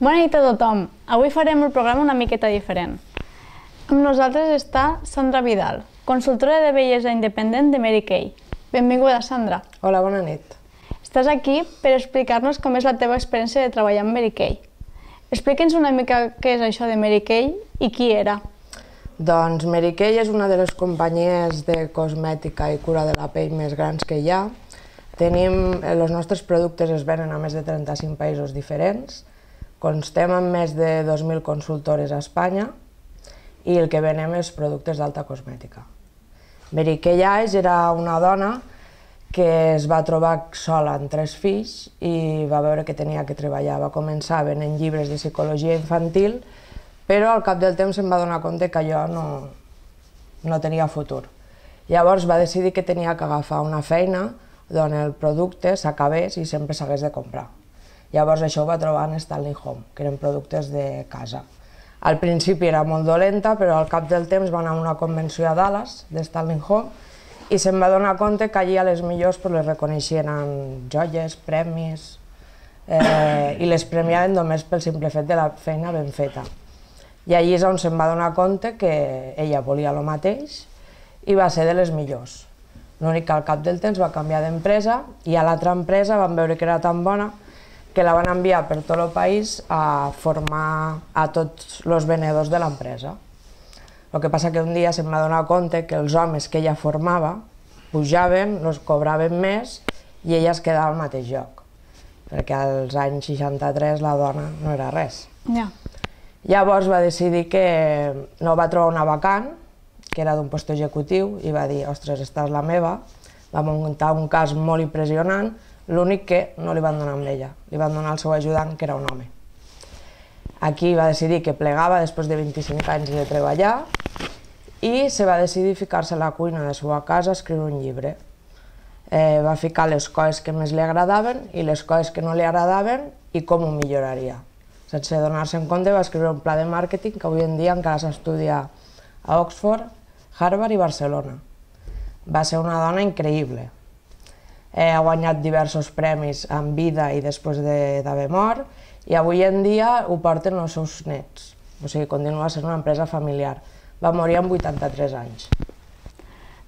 Bona nit a tothom. Avui farem el programa una miqueta diferent. Amb nosaltres està Sandra Vidal, consultora de bellesa independent de Mary Kay. Benvinguda, Sandra. Hola, bona nit. Estàs aquí per explicar-nos com és la teva experiència de treballar amb Mary Kay. Explica'ns una mica què és això de Mary Kay i qui era. Doncs Mary Kay és una de les companyies de cosmètica i cura de la pell més grans que hi ha. Els nostres productes es venen a més de 35 països diferents. Constem amb més de 2.000 consultores a Espanya i el que venem és productes d'alta cosmètica. Mary Kay Aix era una dona que es va trobar sola amb 3 fills i va veure que tenia que treballar. Va començar venent llibres de psicologia infantil, però al cap del temps se'n va donar compte que allò no tenia futur. Llavors va decidir que tenia que agafar una feina on el producte s'acabés i sempre s'hagués de comprar. Llavors això ho va trobar en Stanley Home, que eren productes de casa. Al principi era molt dolenta, però al cap del temps va anar a una convenció a Dallas de Stanley Home i se'n va donar compte que allí a les millors les reconeixien amb joies, premis i les premiaven només pel simple fet de la feina ben feta. I allí és on se'n va donar compte que ella volia el mateix i va ser de les millors. L'únic que al cap del temps va canviar d'empresa i a l'altra empresa van veure que era tan bona que la van enviar per tot el país a formar a tots els venedors de l'empresa. El que passa que un dia se'm va donar compte que els homes que ella formava pujaven, els cobraven més i ella es quedava al mateix lloc, perquè als anys 63 la dona no era res. Llavors va decidir que no va trobar una vacant, que era d'un lloc executiu, i va dir, ostres, esta és la meva. Va muntar un cas molt impressionant, l'únic que no li van donar amb ella, li van donar el seu ajudant, que era un home. Aquí va decidir que plegava després de 25 anys de treballar i se va decidir ficar-se a la cuina de la seva casa a escriure un llibre. Va ficar les coses que més li agradaven i les coses que no li agradaven i com ho milloraria. Sense donar-se en compte va escriure un pla de màrqueting que avui en dia encara s'estudia a Oxford, Harvard i Barcelona. Va ser una dona increïble. Ha guanyat diversos premis en vida i després d'haver mort i avui en dia ho porten els seus nets, o sigui, continua sent una empresa familiar. Va morir amb 83 anys.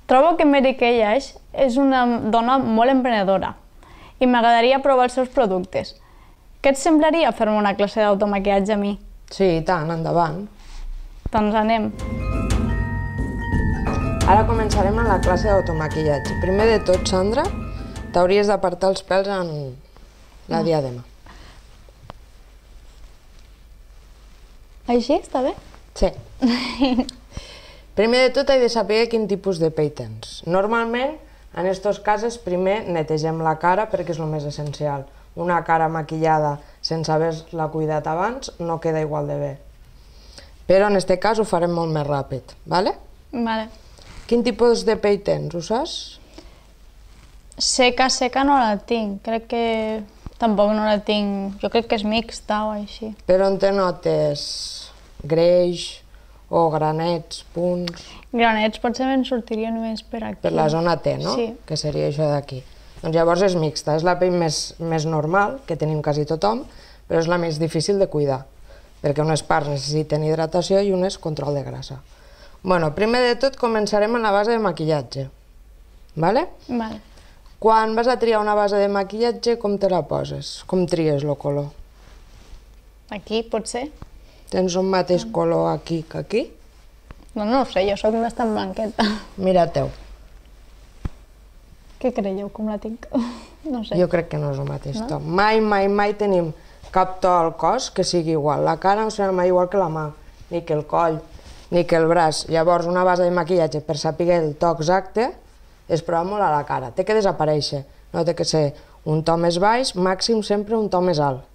Trobo que Mary Kay Aix és una dona molt emprenedora i m'agradaria provar els seus productes. Què et semblaria fer-me una classe d'automaquillatge a mi? Sí, i tant, endavant. Doncs anem. Ara començarem amb la classe d'automaquillatge. Primer de tot, Sandra, t'hauries d'apartar els pèls en la diadema. Així està bé? Sí. Primer de tot, he de saber quin tipus de pell tens. Normalment, en aquests casos, primer netegem la cara perquè és el més essencial. Una cara maquillada sense haver-la cuidat abans no queda igual de bé. Però en aquest cas ho farem molt més ràpid, ¿vale? Vale. Quin tipus de pell tens, ho saps? Seca no la tinc, crec que tampoc no la tinc, jo crec que és mixta o així. Però on te notes greix o granets, punts? Granets potser me'n sortirien més per aquí. Per la zona T, no? Sí. Que seria això d'aquí. Doncs llavors és mixta, és la pell més normal, que tenim quasi tothom, però és la més difícil de cuidar, perquè unes parts necessiten hidratació i unes control de grassa. Bueno, primer de tot començarem amb la base de maquillatge, ¿vale? Vale. Quan vas a triar una base de maquillatge, com te la poses? Com tries el color? Aquí, potser? Tens un mateix color aquí que aquí? No ho sé, jo sóc bastant blanqueta. Mira-teu. Què creieu, com la tinc? No sé. Jo crec que no és el mateix to. Mai tenim cap to al cos que sigui igual. La cara no serà mai igual que la mà, ni que el coll, ni que el braç. Llavors, una base de maquillatge, per saber el to exacte, es prova molt a la cara. Té que desaparèixer. No té que ser un to més baix, màxim sempre un to més alt.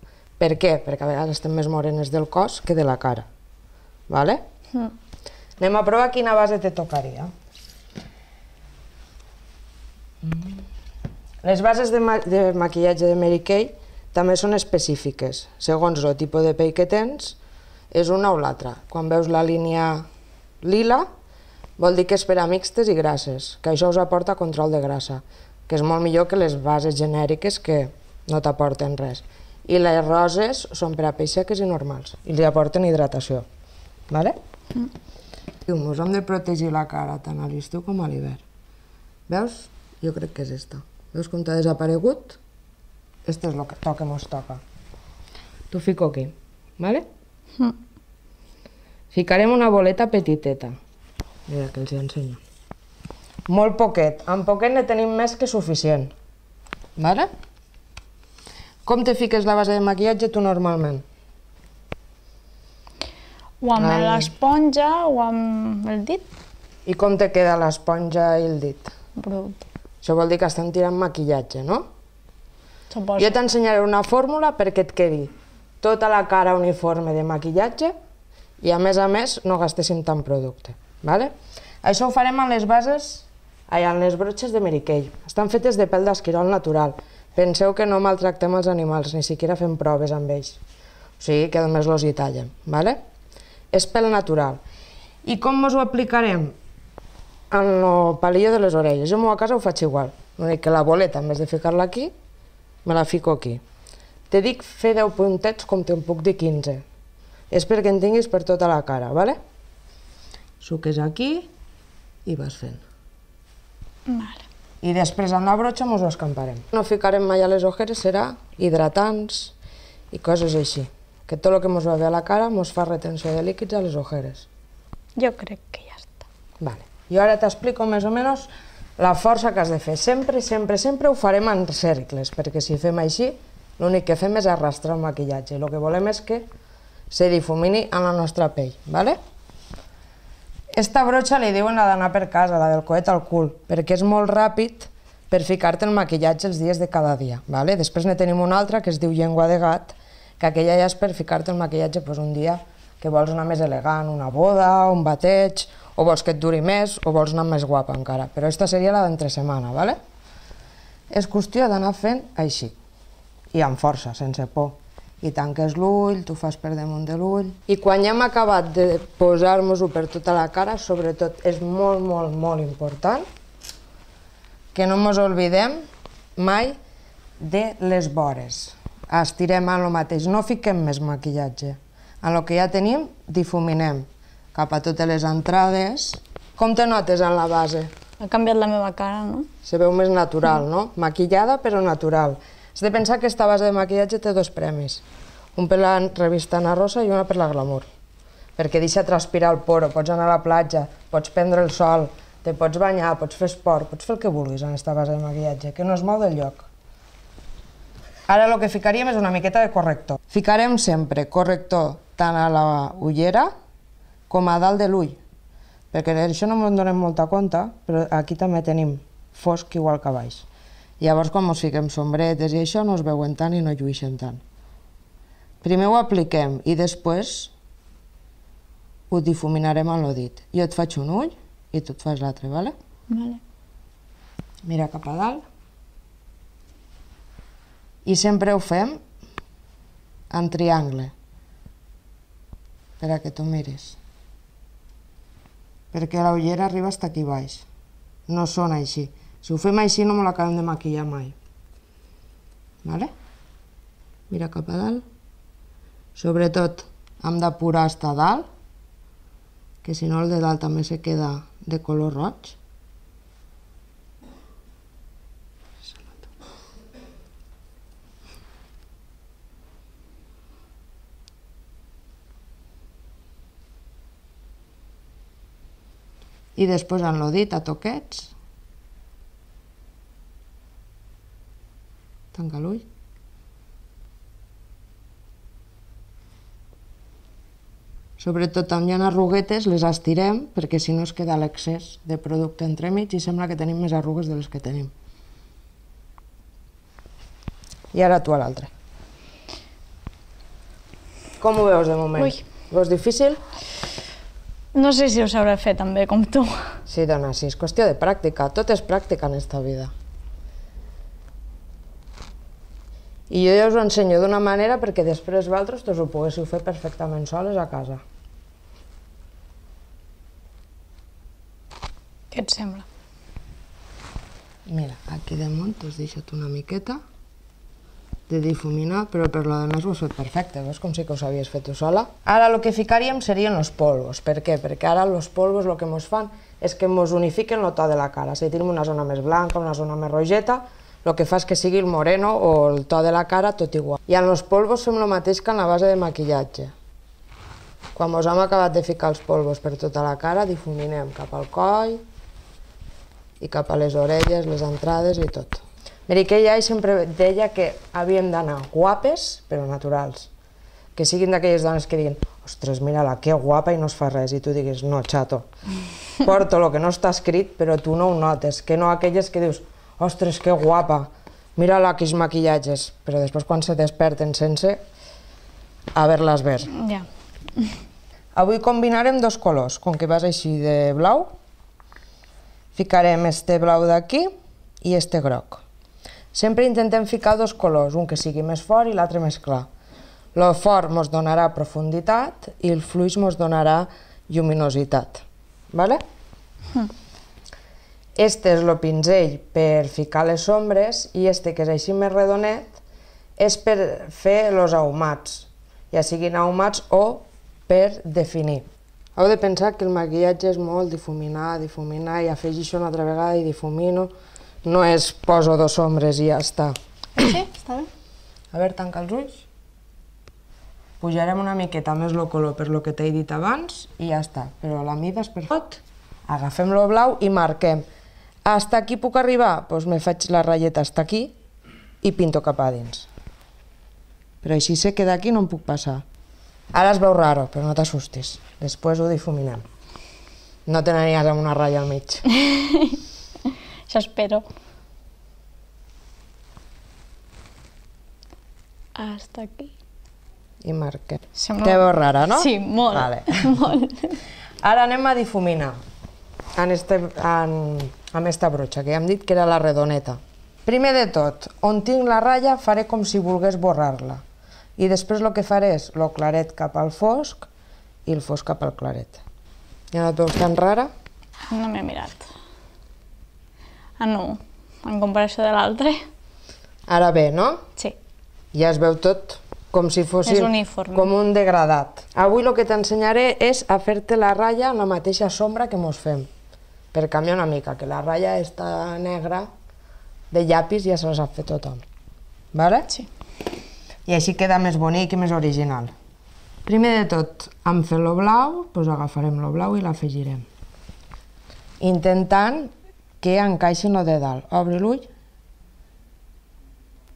Per què? Perquè a vegades estem més morenes del cos que de la cara. Vale? Anem a provar quina base te tocaria. Les bases de maquillatge de Mary Kay també són específiques. Segons el tipus de pell que tens, és una o l'altra. Quan veus la línia lila, vol dir que és per a mixtes i grasses, que això us aporta control de grassa, que és molt millor que les bases genèriques que no t'aporten res. i les roses són per a pells seques i normals, i li aporten hidratació. Vale? Ens hem de protegir la cara tant a l'estiu com a l'hivern. Veus? Jo crec que és esta. Veus com t'ha desaparegut? Este és el que mos toca. T'ho fico aquí, vale? Ficarem una boleta petiteta. Mira, que els hi ensenyo. Molt poquet. Amb poquet ne tenim més que suficient. Vale? Com te fiques la base de maquillatge tu normalment? O amb l'esponja o amb el dit. I com te queda l'esponja i el dit? Brut. Això vol dir que estem tirant maquillatge, no? Suposo. Jo t'ensenyaré una fórmula perquè et quedi tota la cara uniforme de maquillatge i a més no gastéssim tant producte. Vale? Això ho farem amb les bases, amb les brotxes de Mary Kay. Estan fetes de pèl d'esquirol natural. Penseu que no maltractem els animals, ni siquiera fem proves amb ells. O sigui que només els hi tallem. Vale? És pèl natural. I com ens ho aplicarem? En el palillo de les orelles. Jo a casa ho faig igual. L'únic que la boleta, en vez de ficar-la aquí, me la fico aquí. Te dic fer 10 puntets com te'n puc dir 15. És perquè en tinguis per tota la cara, vale? Suques aquí i vas fent. Vale. I després amb la brotxa ens ho escamparem. No ficarem mai a les ojeres, serà hidratants i coses així. Que tot el que ens va bé a la cara ens fa retenció de líquids a les ojeres. Jo crec que ja està. Vale. Jo ara t'explico més o menys la força que has de fer. Sempre, sempre, sempre ho farem en cercles, perquè si fem així, l'únic que fem és arrastrar el maquillatge. El que volem és que se difumini en la nostra pell, ¿vale? Esta brotxa li diuen la d'anar per casa, la del coet al cul, perquè és molt ràpid per ficar-te el maquillatge els dies de cada dia, ¿vale? Després ne tenim una altra que es diu llengua de gat, que aquella ja és per ficar-te el maquillatge un dia que vols anar més elegant, una boda, un bateig, o vols que et duri més, o vols anar més guapa encara. Però aquesta seria la d'entre setmana, ¿vale? És qüestió d'anar fent així, i amb força, sense por. I tanques l'ull, tu fas per damunt de l'ull. I quan ja hem acabat de posar-nos-ho per tota la cara, sobretot és molt, molt, molt important que no ens oblidem mai de les vores. Estirem en el mateix, no fiquem més maquillatge. En el que ja tenim, difuminem cap a totes les entrades. Com te notes en la base? Ha canviat la meva cara, no? Se veu més natural, no? Maquillada però natural. Has de pensar que aquesta base de maquillatge té 2 premis. Un per la revista Ana Rosa i una per la Glamour. Perquè deixa transpirar el poro, pots anar a la platja, pots prendre el sol, te pots banyar, pots fer esport, pots fer el que vulguis en aquesta base de maquillatge, que no es mou del lloc. Ara el que ficaríem és una miqueta de corrector. Ficarem sempre corrector tant a la ullera com a dalt de l'ull, perquè d'això no ens donem molta compte, però aquí també tenim fosc igual que a baix. Llavors, quan ens fiquem sombretes i això, no es veuen tant i no llueixen tant. Primer ho apliquem i després ho difuminarem amb el dit. Jo et faig un ull i tu et fas l'altre, vale? Vale. Mira cap a dalt. I sempre ho fem en triangle, per a que tu miris. Perquè la ullera arriba fins aquí baix. No són així. Si ho fem així no me l'acabem de maquillar mai. Vale? Mira cap a dalt. Sobretot hem d'apurar fins a dalt, que si no el de dalt també se queda de color roig. I després en el dit a toquets. Tanca l'ull. Sobretot on hi ha arruguetes les estirem perquè si no es queda l'excés de producte entremig i sembla que tenim més arrugues de les que tenim. I ara tu a l'altre. Com ho veus de moment? Ui. Veus difícil? No sé si ho sabré fer tan bé com tu. Sí, dona, sí, és qüestió de pràctica. Tot és pràctica en esta vida. I jo ja us ho ensenyo d'una manera perquè després vosaltres us ho poguéssiu fer perfectament soles a casa. Què et sembla? Mira, aquí damunt t'has deixat una miqueta de difuminar, però per lo demés ho has fet perfecte, veus com sí que ho sabies fer tu sola. Ara el que ficaríem serien els polvos. Per què? Perquè ara els polvos el que ens fan és que ens unifiquen el to de la cara. Si tenim una zona més blanca, una zona més rogeta, el que fa és que sigui el moreno o el to de la cara tot igual. I en els polvos fem el mateix que en la base de maquillatge. Quan ens hem acabat de ficar els polvos per tota la cara, difuminem cap al coll i cap a les orelles, les entrades i tot. Mary Kay Ash sempre deia que havíem d'anar guapes però naturals. Que siguin d'aquelles dones que diguin ostres, mira-la, que guapa i no es fa res, i tu diguis no, xato, porto el que no està escrit però tu no ho notes, que no aquelles que dius ostres, que guapa, mira-la, quins maquillatges, però després quan se desperten sense, a ver-les ver. Ja. Avui combinarem dos colors, com que vas així de blau, ficarem este blau d'aquí i este groc. Sempre intentem ficar dos colors, un que sigui més fort i l'altre més clar. El fort ens donarà profunditat i el fluix ens donarà lluminositat. Vale? Este és el pinzell per ficar les ombres i este, que és així més redonet, és per fer els ahumats, ja siguin ahumats o per definir. Heu de pensar que el maquillatge és molt difuminar, difuminar, i afegeixo una altra vegada i difumino. No és poso dos ombres i ja està. Sí, està bé. A veure, tanca els ulls. Pujarem una miqueta més el color per lo que t'he dit abans i ja està. Però la mida és per tot. Agafem el blau i marquem. Hasta aquí puc arribar? Doncs me faig la ratlleta hasta aquí i pinto cap a dins. Però així sé que d'aquí no em puc passar. Ara es veu raro, però no t'assustis. Després ho difuminem. No te n'aniries amb una ratlla al mig. Això espero. Hasta aquí. I marquem. Sembla... Te veus rara, no? Sí, molt. Vale. Molt. Ara anem a difuminar amb esta brotxa, que ja hem dit que era la redoneta. Primer de tot, on tinc la ratlla faré com si volgués borrar-la. I després el que faré és el claret cap al fosc i el fosc cap al claret. Ja no et veus tan rara? No m'he mirat. Ah, no. En comparació de l'altre. Ara bé, no? Sí. Ja es veu tot com si fossin És uniforme. com un degradat. Avui el que t'ensenyaré és a fer-te la ratlla en la mateixa sombra que mos fem. Per canviar una mica, que la ratlla està negra de llapis ja se la sap fer tothom. Vale? Sí. I així queda més bonic i més original. Primer de tot, hem fet el blau, doncs agafarem el blau i l'afegirem. Intentant que encaixi el de dalt. Obri l'ull.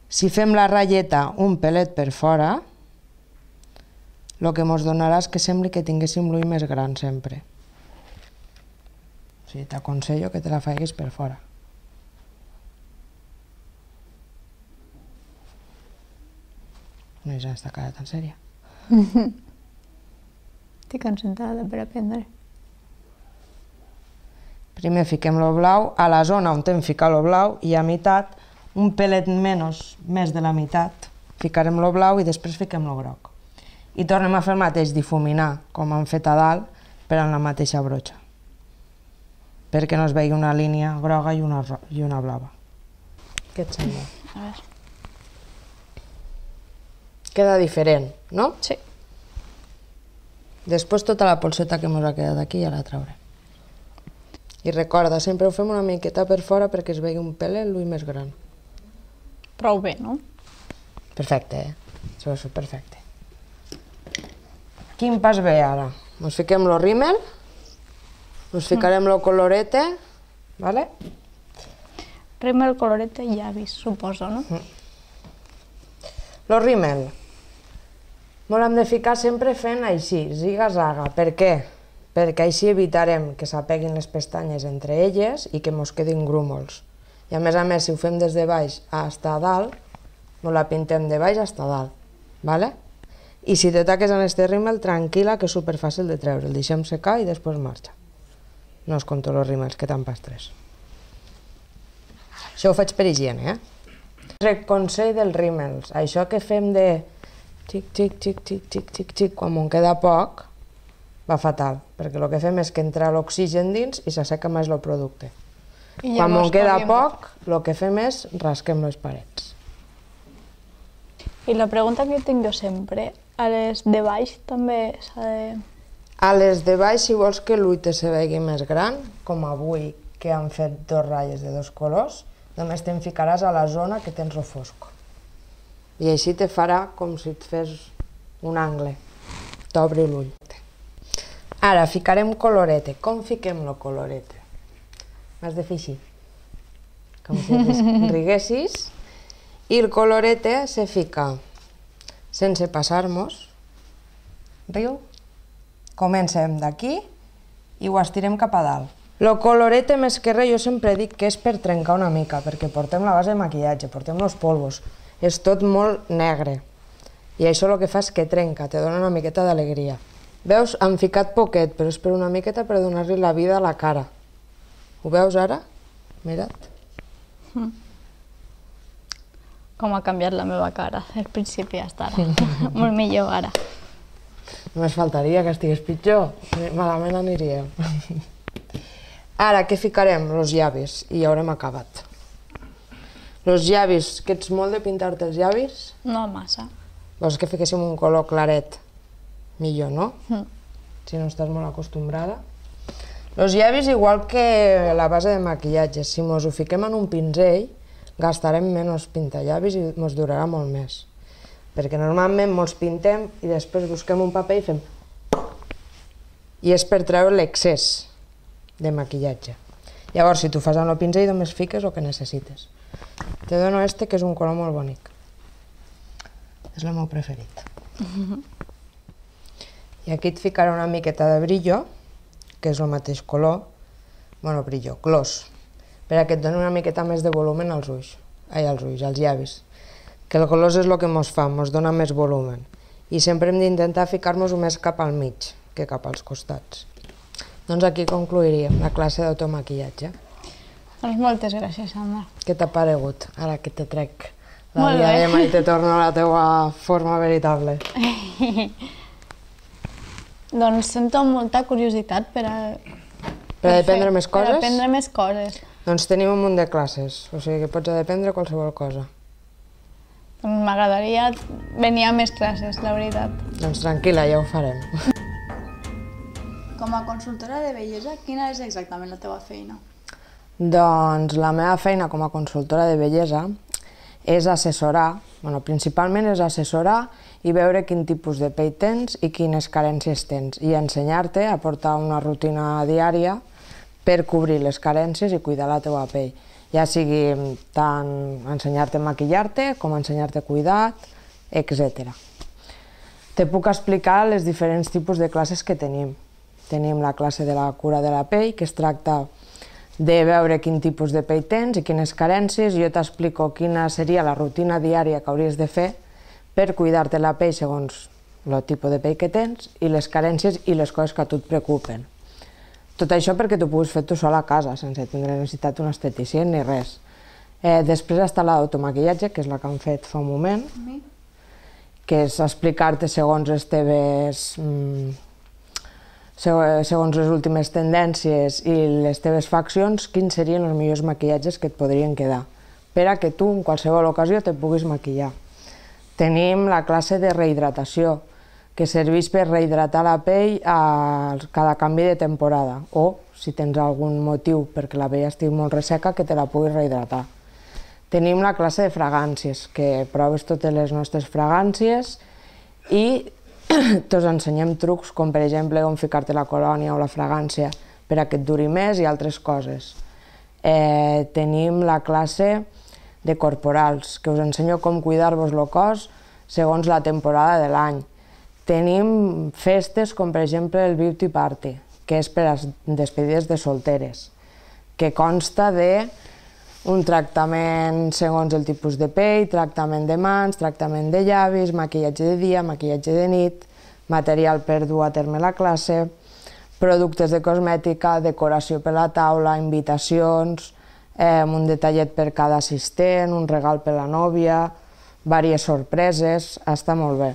Si fem la ratlleta un pelet per fora, el que ens donarà és que sembli que tinguéssim l'ull més gran sempre. O sigui, t'aconsello que te la facis per fora. No és aquesta cara tan sèria. Estic concentrada per aprendre. Primer fiquem el blau a la zona on hem ficat el blau i a meitat, un pelet més de la meitat, ficarem el blau i després fiquem el groc. I tornem a fer el mateix, difuminar, com hem fet a dalt, però en la mateixa brotxa. Perquè no es vegi una línia groga i una blava. Què et sembla? A veure. Queda diferent, no? Sí. Després tota la polseta que ens ha quedat aquí ja la traurem. I recorda, sempre ho fem una miqueta per fora perquè es vegi un pelet l'ull més gran. Prou bé, no? Perfecte, Això és perfecte. Quin pas ve ara? Ens fiquem el rímel, ens ficarem el colorete, ¿vale? Rímel, colorete i llavis, suposo, no? El rímel. Ens l'hem de ficar sempre fent així, ziga-zaga. Per què? Perquè així evitarem que s'apeguin les pestanyes entre elles i que ens quedin grúmols. I a més, si ho fem des de baix fins a dalt, ens la pintem de baix fins a dalt. ¿Vale? I si te taques en este rímel, tranquil·la, que és superfàcil de treure. El deixem secar i després marxa. No us conto els rímels, que tan pastres. Això ho faig per higiene, Consell dels rímels. Això que fem de xic, xic, xic, xic, xic, xic, xic, quan en queda poc, va fatal, perquè el que fem és que entra l'oxigen dins i s'asseca més el producte. Quan en queda poc, el que fem és rasquem les parets. I la pregunta que tinc jo sempre, a les de baix també s'ha de... A les de baix, si vols que l'ull te se vegi més gran, com avui que han fet dos ratlles de dos colors, només te'n ficaràs a la zona que tens el fosc. I així te farà com si et fes un angle. T'obri l'ull. Ara ficarem colorete. Com fiquem el colorete? M'has de fer així. Com si riguessis. I el colorete se fica sense passar-nos. Riu. Comencem d'aquí i ho estirem cap a dalt. El colorete més que res jo sempre dic que és per trencar una mica, perquè portem la base de maquillatge, portem els polvos, és tot molt negre. I això el que fa és que trenca, te dona una miqueta d'alegria. Veus, han ficat poquet, però és per una miqueta per donar-li la vida a la cara. Ho veus ara? Mira't. Com ha canviat la meva cara, al principi hasta ara. Molt millor ara. Només faltaria que estigués pitjor, malament aniríem. Ara, què ficarem? Els llavis, i ja haurem acabat. Els llavis, que ets molt de pintar-te els llavis? No massa. Vols que fiquéssim un color claret? Millor, no? Si no estàs molt acostumbrada. Els llavis, igual que la base de maquillatge, si mos ho fiquem en un pinzell, gastarem menys pintallavis i mos durarà molt més. Perquè normalment mos pintem i després busquem un paper i fem... I és per treure l'excés de maquillatge. Llavors, si tu fas amb el pinzell, només fiques el que necessites. Te dono este, que és un color molt bonic. És el meu preferit. I aquí et ficaré una miqueta de brillo, que és el mateix color, bueno, brillo, gloss, perquè et doni una miqueta més de volumen als ulls, als llavis. Que el gloss és el que ens fa, ens dona més volumen. I sempre hem d'intentar ficar-nos-ho més cap al mig que cap als costats. Doncs aquí concluiríem la classe d'automaquillatge. Doncs moltes gràcies, Sandra. Què t'ha paregut, ara que te trec la diadema i te torno a la teua forma veritable? Doncs sento molta curiositat per aprendre més coses? Per aprendre més coses. Doncs tenim un munt de classes, o sigui que pots aprendre qualsevol cosa. Doncs m'agradaria venir a més classes, la veritat. Doncs tranquil·la, ja ho farem. Com a consultora de bellesa, quina és exactament la teva feina? Doncs la meva feina com a consultora de bellesa és assessorar, principalment és assessorar i veure quin tipus de pell tens i quines carències tens, i ensenyar-te a portar una rutina diària per cobrir les carències i cuidar la teva pell. Ja sigui tant ensenyar-te a maquillar-te com ensenyar-te cuidat, etc. Te puc explicar els diferents tipus de classes que tenim. Tenim la classe de la cura de la pell, que es tracta de veure quin tipus de pell tens i quines carències, i jo t'explico quina seria la rutina diària que hauries de fer per cuidar-te la pell segons el tipus de pell que tens i les carències i les coses que a tu et preocupen. Tot això perquè t'ho puguis fer tu sol a casa, sense tindre necessitat d'un esteticient ni res. Després està l'automaquillatge, que és la que hem fet fa un moment, que és explicar-te segons les teves... segons les últimes tendències i les teves faccions, quins serien els millors maquillatges que et podrien quedar, per a que tu en qualsevol ocasió te puguis maquillar. Tenim la classe de rehidratació, que serveix per rehidratar la pell a cada canvi de temporada, o, si tens algun motiu perquè la pell estigui molt resseca, que te la puguis rehidratar. Tenim la classe de fragàncies, que proves totes les nostres fragàncies i t'us ensenyem trucs, com per exemple com ficar-te la colònia o la fragància per a que et duri més i altres coses. Tenim la classe de corporals, que us ensenyo com cuidar-vos el cos segons la temporada de l'any. Tenim festes com per exemple el Beauty Party, que és per a despedides de solteres, que consta d'un tractament segons el tipus de pell, tractament de mans, tractament de llavis, maquillatge de dia, maquillatge de nit, material per dur a terme la classe, productes de cosmètica, decoració per la taula, invitacions, un detallet per cada assistent, un regal per la nòvia, diverses sorpreses, està molt bé.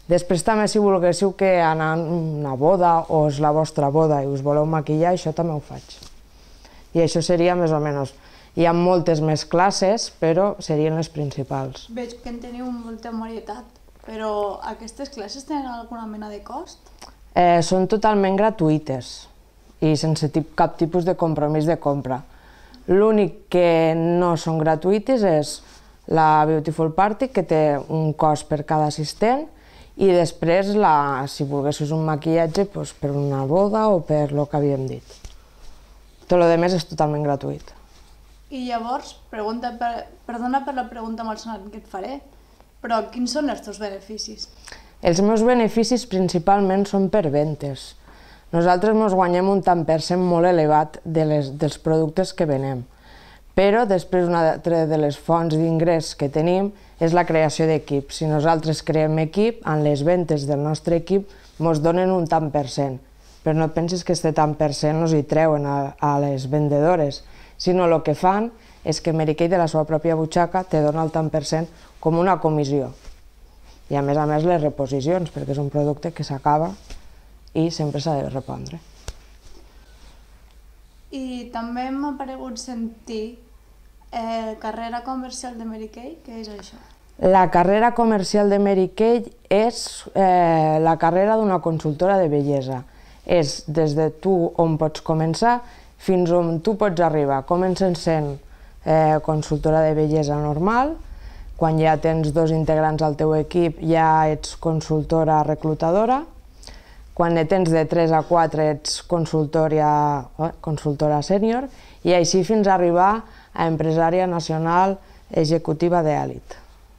Després també, si volguéssiu que anar a una boda o és la vostra boda i us voleu maquillar, això també ho faig. I això seria més o menys. Hi ha moltes més classes, però serien les principals. Veig que en teniu molta varietat, però aquestes classes tenen alguna mena de cost? Són totalment gratuïtes i sense cap tipus de compromís de compra. L'únic que no són gratuïtes és la Beautiful Party, que té un cost per cada assistent, i després, si volguessis un maquillatge, per una boda o per lo que havíem dit. Tot el rest és totalment gratuït. I llavors, perdona per la pregunta malsonant que et faré, però quins són els teus beneficis? Els meus beneficis principalment són per ventes. Nosaltres ens guanyem un tant per cent molt elevat dels productes que venem. Però després una altra de les fonts d'ingrés que tenim és la creació d'equips. Si nosaltres creem equip, en les ventes del nostre equip ens donen un tant per cent. Però no et pensis que aquest tant per cent ens hi treuen a les vendedores, sinó el que fan és que Mary Kay de la seva pròpia butxaca te dona el tant per cent com una comissió. I a més les reposicions, perquè és un producte que s'acaba i sempre s'ha de repondre. I també m'ha paregut sentir carrera comercial de Mary Kay, què és això? La carrera comercial de Mary Kay és la carrera d'una consultora de bellesa. És des de tu on pots començar fins on tu pots arribar. Comences sent consultora de bellesa normal, quan ja tens 2 integrants al teu equip ja ets consultora reclutadora, quan ne tens de 3 a 4 ets consultora sènior i així fins a arribar a empresària nacional executiva d'èlit.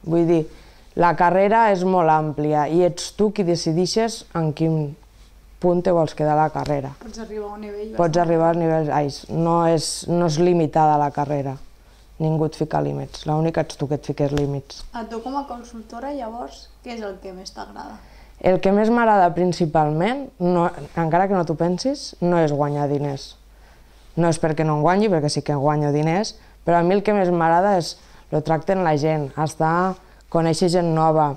Vull dir, la carrera és molt àmplia i ets tu qui decideixes en quin punt te vols quedar a la carrera. Pots arribar a un nivell... Pots arribar als nivells alts. No és limitada la carrera. Ningú et fica límits. L'únic ets tu que et fiques límits. A tu com a consultora, llavors, què és el que més t'agrada? El que més m'agrada principalment, encara que no t'ho pensis, no és guanyar diners. No és perquè no en guanyi, perquè sí que guanyo diners, però a mi el que més m'agrada és el tracte amb la gent, conèixer gent nova,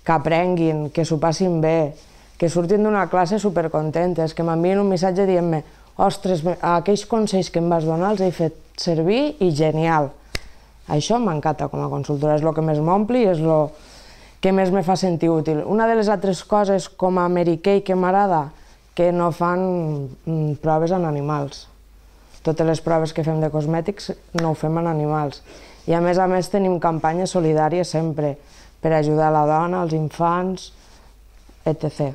que aprenguin, que s'ho passin bé, que surtin d'una classe supercontentes, que m'envien un missatge dient-me «Ostres, aquells consells que em vas donar els he fet servir i genial». Això m'encanta com a consultora, és el que més m'ompli i és el que més me fa sentir útil. Una de les altres coses com a Mary Kay que m'agrada, que no fan proves en animals. Totes les proves que fem de cosmètics no ho fem en animals. I a més tenim campanyes solidàries sempre, per ajudar la dona, els infants, etc.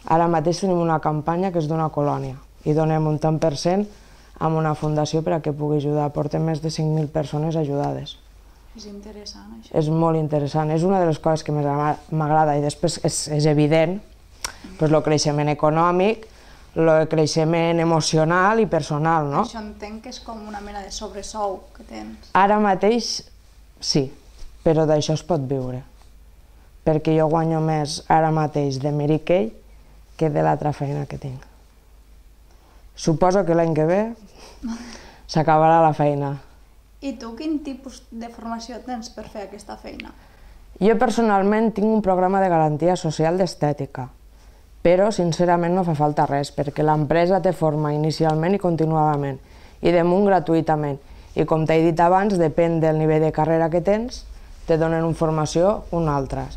Ara mateix tenim una campanya que és d'una colònia i donem un tant per cent a una fundació per a que pugui ajudar. Portem més de 5.000 persones ajudades. És interessant, això. És molt interessant, és una de les coses que més m'agrada i després és evident el creixement econòmic, el creixement emocional i personal, no? Això entenc que és com una mena de sobresou que tens. Ara mateix sí, però d'això es pot viure, perquè jo guanyo més ara mateix de Mary Kay que de l'altra feina que tinc. Suposo que l'any que ve s'acabarà la feina. I tu quin tipus de formació tens per fer aquesta feina? Jo personalment tinc un programa de garantia social d'estètica, però sincerament no fa falta res, perquè l'empresa te forma inicialment i continuadament, i damunt gratuïtament. I com t'he dit abans, depèn del nivell de carrera que tens, te donen una formació o una altra.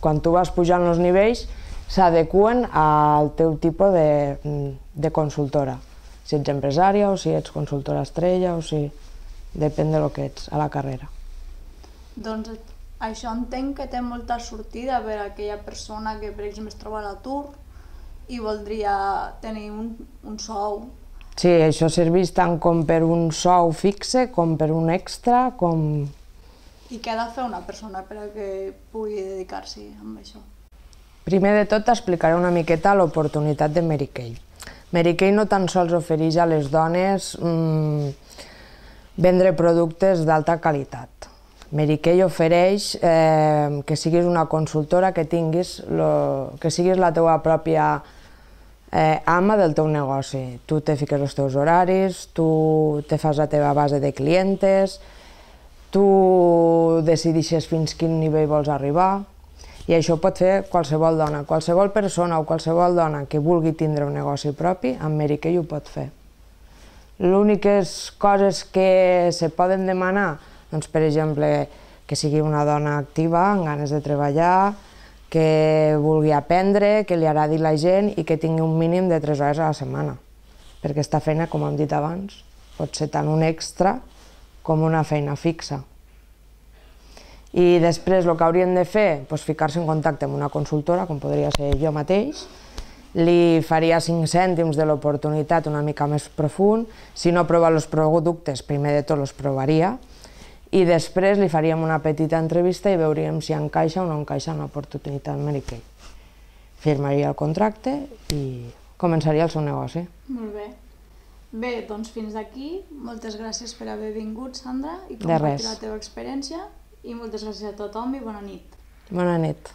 Quan tu vas pujant els nivells, s'adequen al teu tipus de consultora. Si ets empresària o si ets consultora estrella o si... Depèn del que ets a la carrera. Doncs això entenc que té molta sortida per a aquella persona que, per exemple, es troba a l'atur i voldria tenir un sou. Sí, això serveix tant com per un sou fixe, com per un extra, com... I què ha de fer una persona per a que pugui dedicar-s'hi a això? Primer de tot t'explicaré una miqueta l'oportunitat de Mary Kay. Mary Kay no tan sols ofereix a les dones vendre productes d'alta qualitat. Mary Kay ofereix que siguis una consultora, que siguis la teva pròpia ama del teu negoci. Tu te fiques els teus horaris, tu te fas la teva base de clientes, tu decideixes fins quin nivell vols arribar i això ho pot fer qualsevol dona. Qualsevol persona o qualsevol dona que vulgui tindre un negoci propi, amb Mary Kay ho pot fer. L'úniques coses que se poden demanar, doncs, per exemple, que sigui una dona activa, amb ganes de treballar, que vulgui aprendre, que li agradi la gent i que tingui un mínim de 3 hores a la setmana. Perquè aquesta feina, com hem dit abans, pot ser tant un extra com una feina fixa. I després el que haurien de fer, doncs ficar-se en contacte amb una consultora, com podria ser jo mateix, li faria 5 cèntims de l'oportunitat una mica més profund, si no prova els productes, primer de tot els provaria, i després li faríem una petita entrevista i veuríem si encaixa o no encaixa una oportunitat Mary Kay. Firmaria el contracte i començaria el seu negoci. Molt bé. Bé, doncs fins aquí. Moltes gràcies per haver vingut, Sandra, i De res. compartir la teva experiència. I moltes gràcies a tothom i bona nit. Bona nit.